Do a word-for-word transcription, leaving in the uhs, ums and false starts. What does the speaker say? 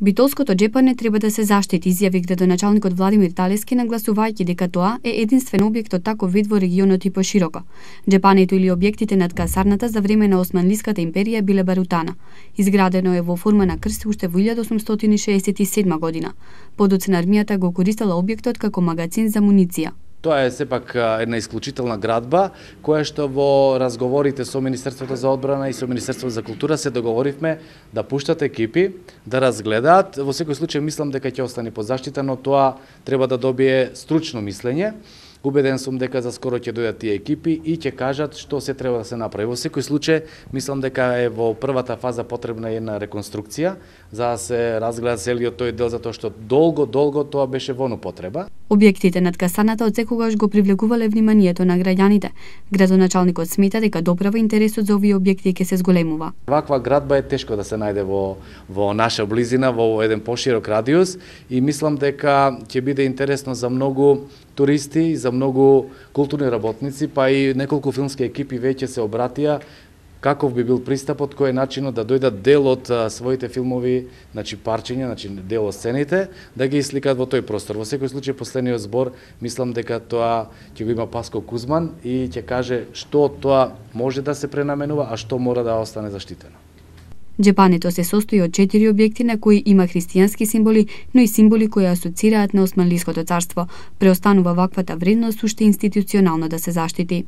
Битолското џепане треба да се заштити, изјави градоначалникот Владимир Талески, нагласувајќи дека тоа е единствен објект од таков вид во регионот и пошироко. Џепането или објектите над касарната за време на Османлиската империја биле барутана. Изградено е во форма на крст уште во илјада осумстотини шеесет и седма година. Подоцна армијата го користела објектот како магазин за муниција. Тоа е сепак една исклучителна градба, која што во разговорите со Министерството за одбрана и со Министерството за култура се договоривме да пуштат екипи, да разгледаат. Во секој случај мислам дека ќе остане под заштита, но тоа треба да добие стручно мислење. Убеден сум дека за скоро ќе дојдат тие екипи и ќе кажат што се треба да се направи. Во секој случај, мислам дека е во првата фаза потребна една реконструкција, за да се разгледа целиот тој дел, затоа што долго, долго тоа беше во употреба. Објектите над касарната отсекогаш го привлекувале вниманието на граѓаните. Градоначалникот смета дека доправа интересот за овие објекти ќе се зголемува. Ваква градба е тешко да се најде во во наша близина, во еден поширок радиус и мислам дека ќе биде интересно за многу туристи, за многу културни работници, па и неколку филмски екипи веќе се обратија каков би бил пристапот, кој е начинот да дојдат дел од а, своите филмови, значи парчиња, значи дел од сцените, да ги сликаат во тој простор. Во секој случај последниот збор, мислам дека тоа ќе го има Паско Кузман и ќе каже што од тоа може да се пренаменува, а што мора да остане заштитено. Џепането се состои од четири објекти на кои има христијански символи, но и символи кои асоцираат на Османлиското царство. Преостанува ваквата вредност уште институционално да се заштити.